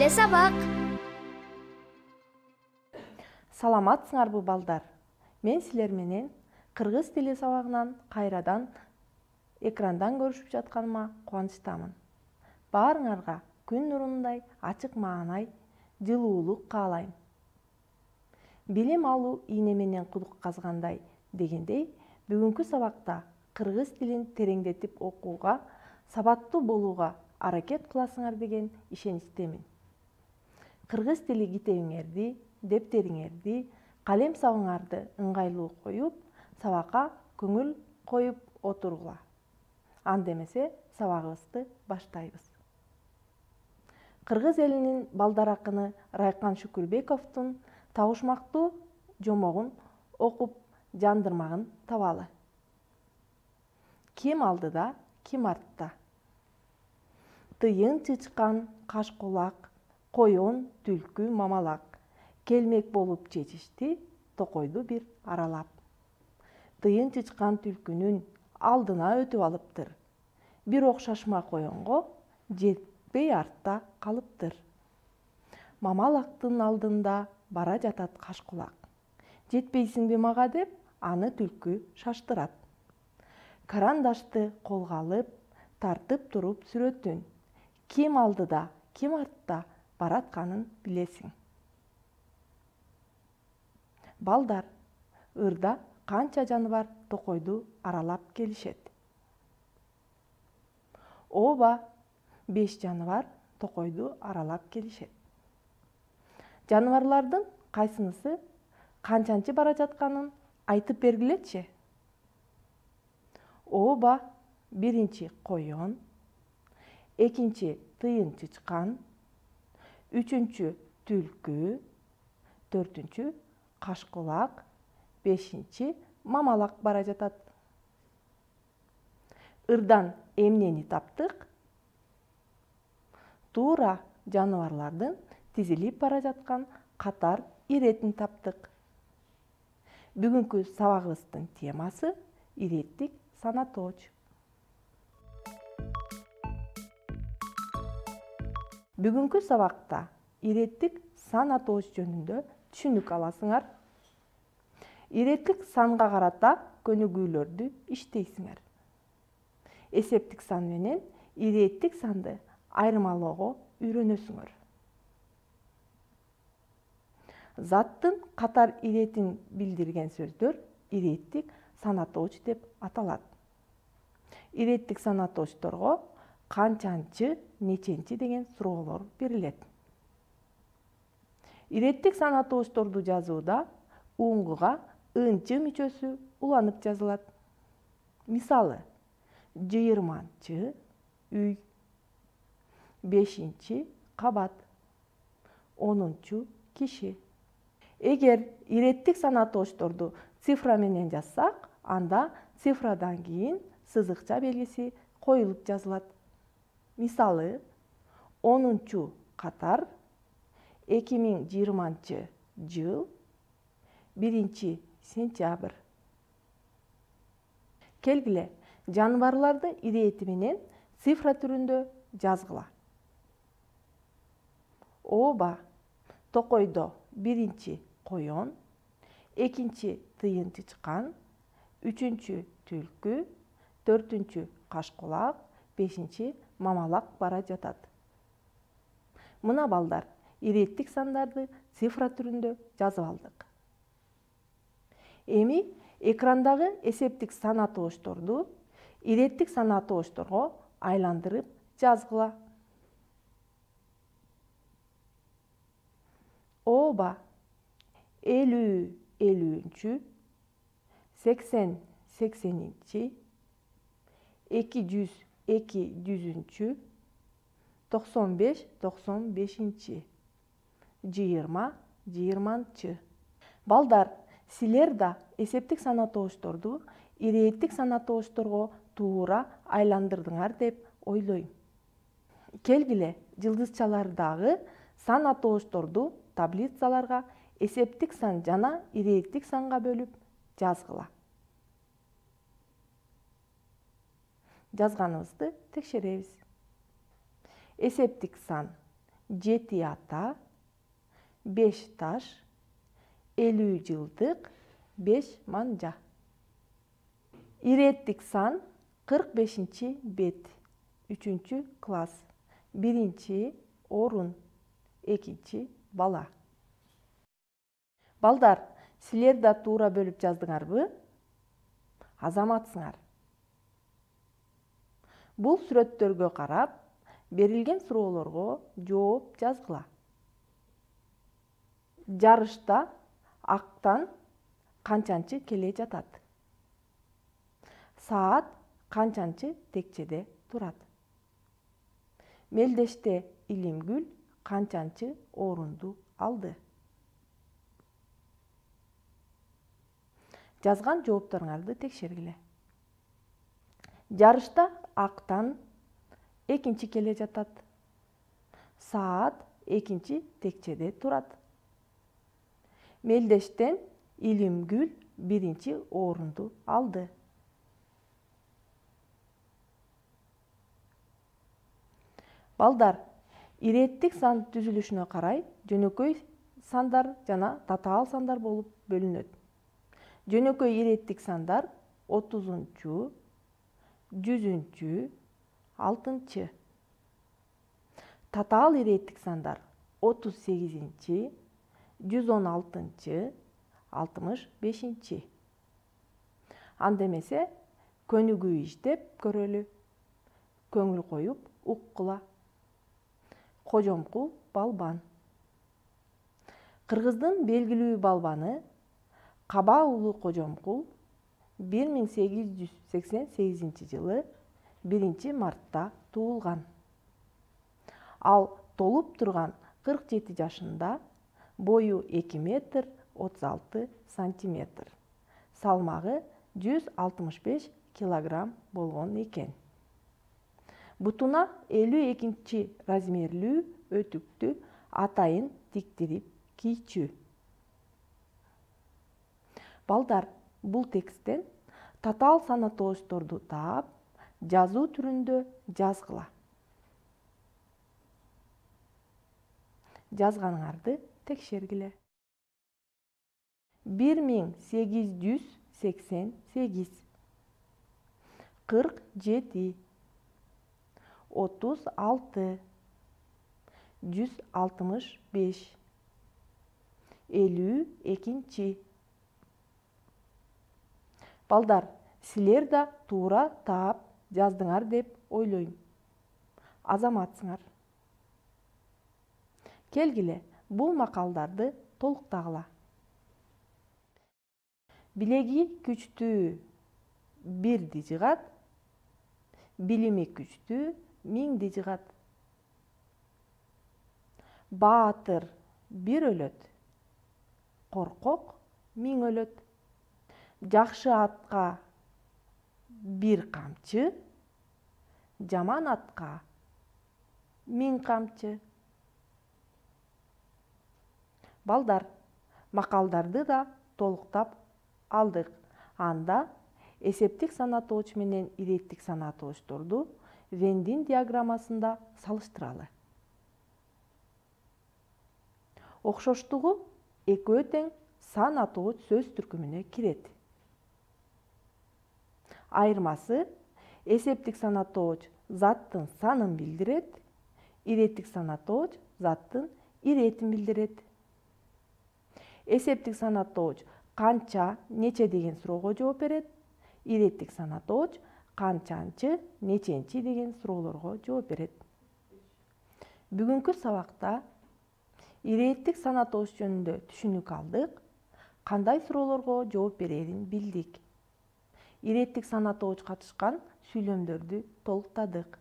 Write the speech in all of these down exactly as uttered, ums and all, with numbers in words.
Теле сабак. Саламатсыңарбы балдар? Мен силер менен кыргыз теле сабагынан кайрадан экрандан көрүшүп жатканыма кубанычтамын. Баарыңарга күн нурундай ачык маанай, жылуулук каалайм. Билим алуу ийне менен кудук казгандай дегендей, бүгүнкү сабакта кыргыз тилин тереңдетип окууга, сабаттуу болууга аракет кыласыңар деген ишеничтемин. Кыргыз тили китебиңерди, дептериңерди, калем сабыңарды ыңгайлуу коюп, сабакка көңүл коюп отургула. Анда эмесе сабагыбызды баштайбыз. Кыргыз элинин балдар акыны Райкан Шүкүрбековдун табышмактуу жомогун окуп жандырмагын табалы. Ким алдыда, ким артта? Тыйын чычкан кашкулак, коён, түлкү, мамалак келмек болуп чечишти токойду бир аралап. Тыйын чычкан түлкүнүн алдына өтүп алыптыр. Бирок шашма коёнго жетпей артта калыптыр. Мамалактын алдында бара жатат кашкулак. Жетпейсиңби мага деп, аны түлкү шаштырат. Карандашты колго алып, тартып туруп сүрөтүн. Ким алдыда, ким артта баратканын билесиң. Балдар, ырда канча жаныбар токойду аралап келишет? Ооба, беш жаныбар токойду аралап келишет. Жаныбарлардын кайсынысы канчанчы бара жатканын айтып бергилечи. Ооба, биринчи коён, экинчи тыйын чычкан, үчүнчү түлкү, төртүнчү кашкулак, бешинчи мамалак бара жатат. Ырдан эмнени таптык? Туура жаныбарлардын тизилип бара жаткан катар иретин таптык. Бүгүнкү сабагыбыздын темасы иреттик санатооч. Бүгүнкү сабакта иреттик санатооч жөнүндө түшүнүк аласыңар. Иреттик санга карата көнүгүүлөрдү иштейсиңер. Эсептик сан менен иреттик санды айырмалоого үйрөнөсүңөр. Заттын катар иретин билдирген сөздөр иреттик санатооч деп аталат. Иреттик санатоочторго канчанчы, неченчи деген суроолор берилет. Иреттик санатоочторду жазууда уңгуга ынчы мүчөсү уланып жазылат. Мисалы, жыйырманчы үй, бешинчи кабат, онунчу киши. Эгер иреттик санатоочторду цифра менен жазсак, анда цифрадан кийин сызыкча белгиси коюлуп жазылат. Мисалы, онунчу катар, эки миң жыйырманчы жыл, биринчи сентябрь. Келгиле, жаныбарларды ирети менен цифра түрүндө жазгыла. Ооба, токойдо биринчи коён, экинчи тыйын чычкан, үчүнчү түлкү, төртүнчү кашкулак, бешинчи мамалак бара жатат. Мына балдар, иреттик сандарды цифра түрүндө жазып алдык. Эми экрандагы эсептик санатоочторду иреттик санатоочторго айландырып жазгыла. Ооба, элүү элүүнчү, сексен сексенинчи, эки жүз эки жүзүнчү, токсон беш токсон бешинчи, жыйырма жыйырманчы. Балдар, силер да эсептик санатоочторду иреттик санатоочторго туура айландырдыңар деп ойлойм. Келгиле, жылдызчалардагы санатоочторду таблицаларга эсептик сан жана иреттик санга бөлүп жазгыла. Жазганыбызды текшеребиз. Эсептик сан жети ата, беш таш, элүү жылдык, беш манжа. Иреттик сан кырк бешинчи бет, үчүнчү класс, биринчи орун, экинчи бала. Балдар, силер да туура бөлүп жаздыңарбы? Азаматсыңар. Бул сүрөттөргө карап, берилген суроолорго жооп жазгыла. Жарышта актан канчанчы келе жатат? Саат канчанчы текчеде турат? Мелдеште Илимгүл канчанчы орунду алды? Жазган жоопторуңарды текшергиле. Жарышта актан экинчи келе жатат. Саат экинчи текчеде турат. Мелдештен Илимгүл биринчи орунду алды. Балдар, иреттик сан түзүлүшүнө карай жөнөкөй сандар жана татаал сандар болуп бөлүнөт. Жөнөкөй иреттик сандар отузунчу, жүзүнчү, алтынчы. Татаал иреттик сандар отуз сегизинчи, жүз он алтынчы, алтымыш бешинчи. Анда эмесе көнүгүү иштеп көрөлү. Көңүл коюп уккула. Кожомкул балбан. Кыргыздын белгилүү балбаны Каба уулу Кожомкул бир миң сегиз жүз сексен сегизинчи жылы биринчи мартта туулган. Ал толуп турган кырк жети жашында, бою эки метр отуз алты сантиметр, салмагы жүз алтымыш беш килограмм болгон экен. Бутуна элүү экинчи размерлүү өтүктү атайын тиктирип кийчү. Балдар, бул тексттен татаал санатоочторду таап, жазуу түрүндө жазгыла. Жазганыңарды текшергиле. бир миң сегиз жүз сексен сегиз, кырк жети, отуз алты, жүз алтымыш беш, элүү экинчи. Балдар, силер да туура таап жаздыңар деп ойлойм. Азаматсыңар. Келгиле, бул макалдарды толуктагыла. Билеги күчтүү бирди жыгат, билими күчтүү миңди жыгат. Баатыр бир өлөт, коркок миң өлөт. Жакшы атка бир камчы, жаман атка миң камчы. Балдар, макалдарды да толуктап алдык. Анда эсептик санатооч менен иреттик санатоочторду Вендин диаграммасында салыштыралы. Окшоштугу экөө тең сан атооч сөз түркүмүнө кирет. Айырмасы эсептик санатооч заттын санын билдирет, иреттик санатооч заттын иретин билдирет. Эсептик санатооч канча, нече деген суроого жооп берет, иреттик санатооч канчанчы, неченчи деген суроолорго жооп берет. Бүгүнкү сабакта иреттик санатооч жөнүндө түшүнүк алдык, кандай суроолорго жооп берерин билдик. Иреттик санатооч катышкан сүйлөмдөрдү толуктадык.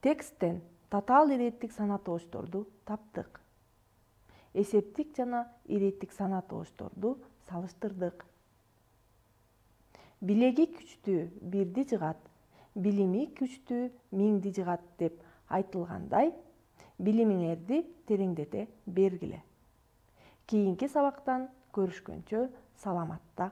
Тексттен татаал иреттик санатоочторду таптык. Эсептик жана иреттик санатоочторду салыштырдык. Билеги күчтүү бирди жыгат, билими күчтүү миңди жыгат деп айтылгандай, билимиңерди тереңдете бергиле. Кийинки сабактан көрүшкөнчө саламатта